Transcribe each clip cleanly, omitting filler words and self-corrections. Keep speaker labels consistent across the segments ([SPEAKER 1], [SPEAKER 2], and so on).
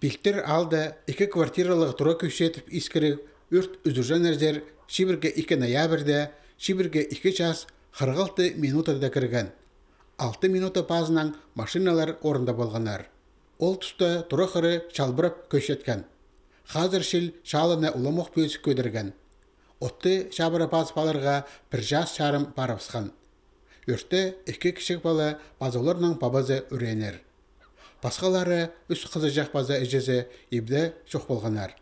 [SPEAKER 1] Билтер алда 2 квартиралық тура көшетіп искірік өрт үзіржен әрдер шибірге 2 ноябрьде, шибірге 2 час 46 минутада кірген. 6 минута пазынан машиналар орында болғанар. Ол тұста тура қыры шалбырап көшеткен. Қазір шел шалына ұламық бөсік көдірген. Отты шабыра паз баларға 1 жас шарым барапсқан. Өртті 2 кішік бала базоларның пабазы үренер. Басқалары үс қызы жақ база әжесі ебді шоқ болғанар.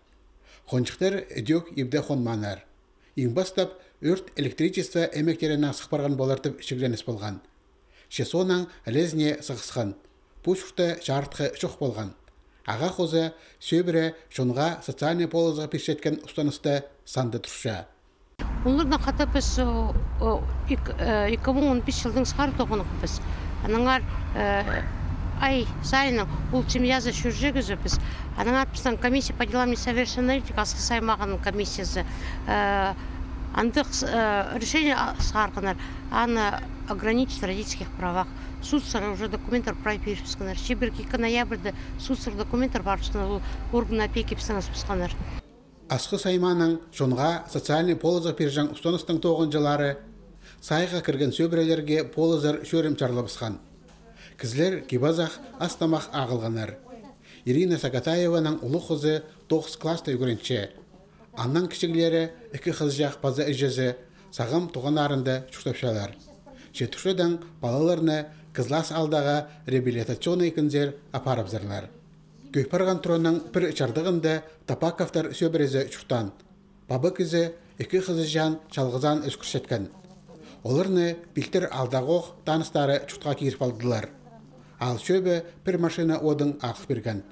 [SPEAKER 1] Қоншықтар өдек ебді қонманар. Ең бастап өрт электричество әмектерінен сықпарған болартып шігленіс болған. Шесонан әлезіне сығысқан. Пушықта жартқы шоқ болған. Аға қозы сөбірі шонға социальный полызға пешеткен ұстанысты санды тұрша.
[SPEAKER 2] Олардан қата біз 2015 жылдың сқар тоғынық біз. Анаңар ай сайының бұл семья за жүржегізі біз. Анаңар біздің комиссия по делам несовершеннолетних асқы саймағының комиссиясы. Андық решение сқарқынар. Аны ограничить в родительских правах. Суд сыры уже документар прав переписканар. Шеберки 2 ноябрьде суд сыры документар барышқанар. Орган опеки пісіңіз пісқанар.
[SPEAKER 1] Асқы сайманың шонға социальный полызға пержан ұстаныстың 9 жылары сайға кірген сөбірелерге полызар шөрім чарлабысқан. Кізлер кебазақ астамақ ағылғанар. Ирина Сагатаеваның ұлы қызы 9 класста үгірінші. Аннан кішігілері 2 қыз жақ база әжесі сағым туғанарында шүқтапшалар. Жетушыдан балаларны кызлас алдағы реабилитационный күнзер апарабзарлар. Көйпарған тұранның бір чардығында Тапаковтар сөбірезі шүқтан. Бабы кізі 2 қызы жан чалғызан өскіршеткен. Оларны білтір алдағоқ таныстары шүқтқа кейіріп алдылар. Ал сөбі бір машина одың ақыл берген.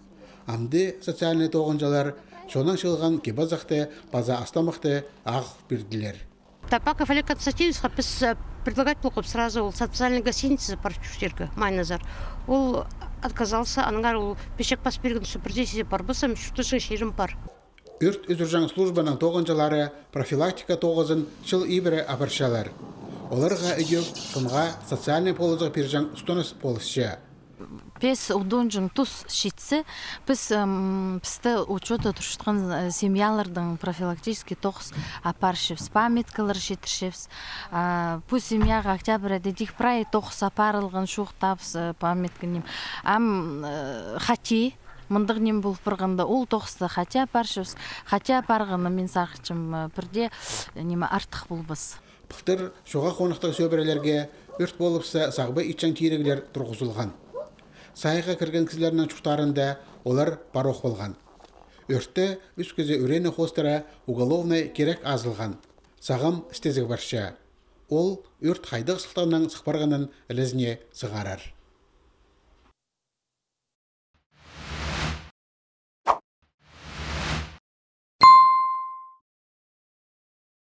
[SPEAKER 1] Амды социальный тоғынжалар шонан шылған кебазақты база астамақты ақыл берділер.
[SPEAKER 2] Тапаков Олег Константинович предлагать плохо сразу социальной гостиницы парчуштерка Майназар. Он отказался, ангар ол пешек пас берген супердесиде барбысам шүтішін шерім бар.
[SPEAKER 1] Өрт үзіржан службаның тоғынжалары профилактика тоғызын шыл ибірі апаршалар. Оларға өйек шынға социальный полызға пержан ұстаныс полысшы.
[SPEAKER 3] Пес удонжың тұс шитсе, біз пісті учета тұршытқан семьялардың профилактический тоқыс апаршевс, памяткалар шетіршевс. Бұл семьяға октябрь дедих прай тоқыс апарылған шуқтапс памятканем. Хати, мұндығнем бұл бірғанда ол тоқысты хати апаршевс, хати апарғаны мен сақычым бірде артық бұл біз.
[SPEAKER 1] Бұқтыр шоға қонықтық сөбірелерге өрт болыпса сағбы итчан тирегілер тұрғызылған. Сайға кірген кізлерінің чуқтарында олар бароқ болған. Өртті үс көзі үрені қостыра уголовный керек азылған. Сағым істезігі барша. Ол өрт қайдық сылтауынан сықпарғанын ілізіне сығарар.